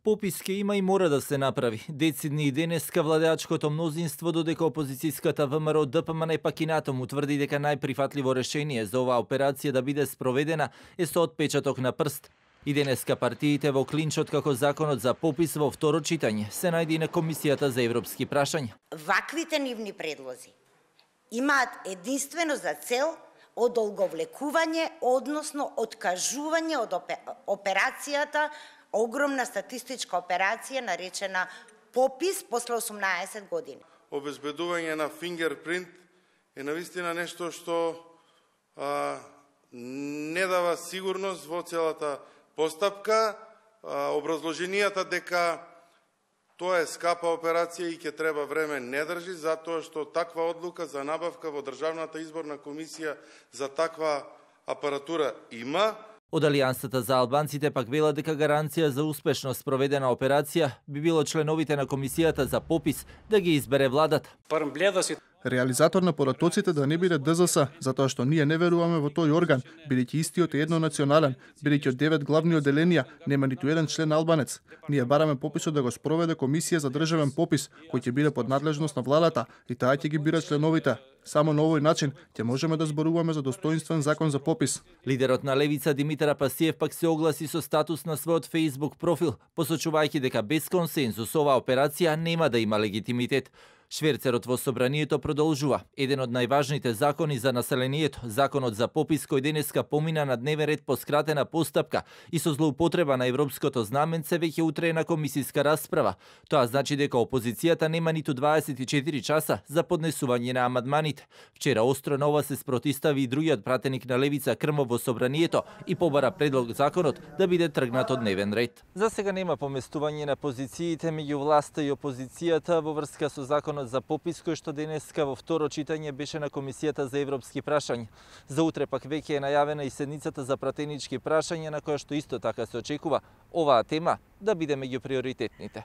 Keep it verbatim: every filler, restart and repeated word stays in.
Попис ке има и мора да се направи. Децидни и денеска владеачкото мнозинство, додека опозицијската ВМРО ДПМН пак и натаму тврди дека најприфатливо решение за оваа операција да биде спроведена е со отпечаток на прст. И денеска партиите во клинчот како законот за попис во второ читање се најде на Комисијата за европски прашања. Ваквите нивни предлози имаат единствено за цел одолговлекување, односно откажување од операцијата, огромна статистичка операција наречена попис после осумнаесет години. Обезбедување на фингерпринт е навистина нешто што а, не дава сигурност во целата постапка. А, образложенијата дека тоа е скапа операција и ќе треба време не држи, затоа што таква одлука за набавка во Државната изборна комисија за таква апаратура има. Од Алијансата за албанците пак велат дека гаранција за успешно спроведена операција би било членовите на Комисијата за попис да ги избере владата. Реализатор на поратоците да не биде ДЗС, затоа што ние не веруваме во тој орган, бидејќи истиот е еднонационален, бидејќи од девет главни оделенија нема ниту еден член албанец. Ние бараме пописот да го спроведе Комисија за државен попис, кој ќе биде под надлежност на владата и таа ќе ги бира членовите. Само на овој начин ќе можеме да зборуваме за достоинствен закон за попис. Лидерот на Левица Димитар Апасиев пак се огласи со статус на својот Facebook профил, посочувајќи дека без консензус оваа операција нема да има легитимитет. Шверцерот во собранието продолжува. Еден од најважните закони за населението, законот за попис кој денеска помина на дневен ред по скратена постапка и со злоупотреба на европското знаменце веќе утре е на комисиска расправа. Тоа значи дека опозицијата нема ниту дваесет и четири часа за поднесување на амандманите. Вчера остро на ова се спротистави и другиот пратеник на Левица Крмов во собранието и побара предлог законот да биде тргнат од дневен ред. За сега нема поместување на позициите меѓу власта и опозицијата во врска со законот за попис кој што денеска во второ читање беше на Комисијата за европски прашања. За утре пак веќе е најавена и седницата за пратенички прашања на која што исто така се очекува оваа тема да биде меѓу приоритетните.